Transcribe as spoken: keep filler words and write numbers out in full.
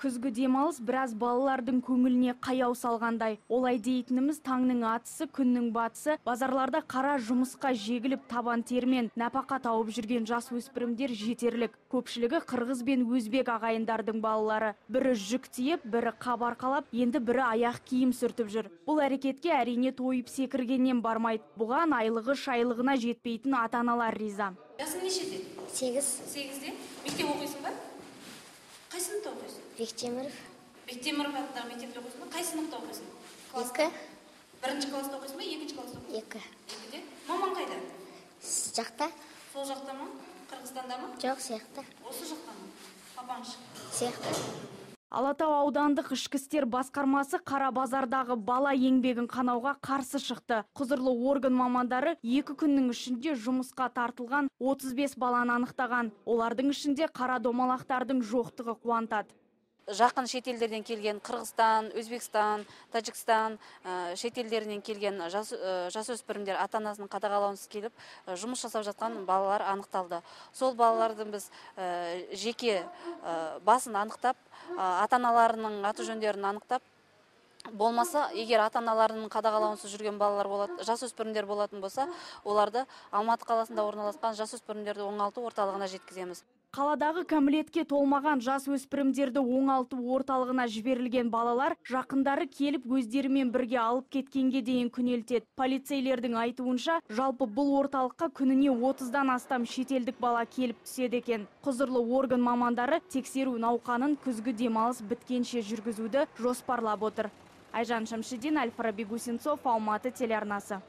Күзгі демалыс біраз балалардың көңіліне қаяу салғандай. Олай дейтініміз таңның атысы, күннің батысы, базарларда қара жұмысқа жегіліп табан термен нәпақа тауып жүрген жас өспірімдер жетерлік. Көпшілігі қырғыз бен өзбек ағайындардың балалары. Бірі жүк тиеп, бірі қап арқалап, енді бірі аяқ киім сүртіп жүр. Бұл әрекетке әрине тойып секіргеннен бармайды. Бұған айлығы шайлығына жетпейтін ата-аналар риза. Жасың нешеде? Сегіз. Сегізде? Мектеп оқисың ба? Қай сыныпта оқисың? Бектеміров. Бектеміров атындағы мектепте оқисың ба? Қай сыныпта оқисың? Екі. Бірінші класста оқисың ба? Екінші класста оқисың? Екі. Екіде? Мамаң қайда? Жақта. Сол жақта ма? Қырғызстанда ма? Жоқ, сияқты. Осы жақта ма? Папаң Сияқты. Алатау аудандық ішкі істер басқармасы Қара базардағы бала еңбегін қанауға қарсы шықты. Құзырлы орган мамандары екі күннің ішінде жұмысқа тартылған отыз бес баланы анықтаған. Олардың ішінде қара домалақтардың жоқтығы қуантады. Жақын шетелдерден келген Қырғызстан, Өзбекстан, Тәжікстан шетелдерінен келген жасөспірімдер ата-анасының қадағалауынсыз келіп жұмыс жасап жатқан балалар анықталды. Сол балалардың біз жеке басын анықтап, ата-аналарының аты жөндерін анықтап, болмаса, егер ата-аналарының қадағалауынсыз жүрген балалар болады, жасөспірімдер болатын болса, оларды Алматы қаласында орналасқан жасөспірімдерді оңалту орталығына жеткіземіз. Қаладағы кәмелетке толмаған жас өспірімдерді оңалту орталығына жіберілген балалар жақындары келіп өздерімен бірге алып кеткенге дейін күнелтеді. Полицейлердің айтуынша, жалпы бұл орталыққа күніне отыздан астам шетелдік бала келіп түседі екен. Құзырлы орган мамандары тексеру науқанын күзгі демалыс біткенше жүргізуді жоспарлап отыр. Айжан Шамшидин, Аль-Фараби Гусинцов, Алматы телеарнасы.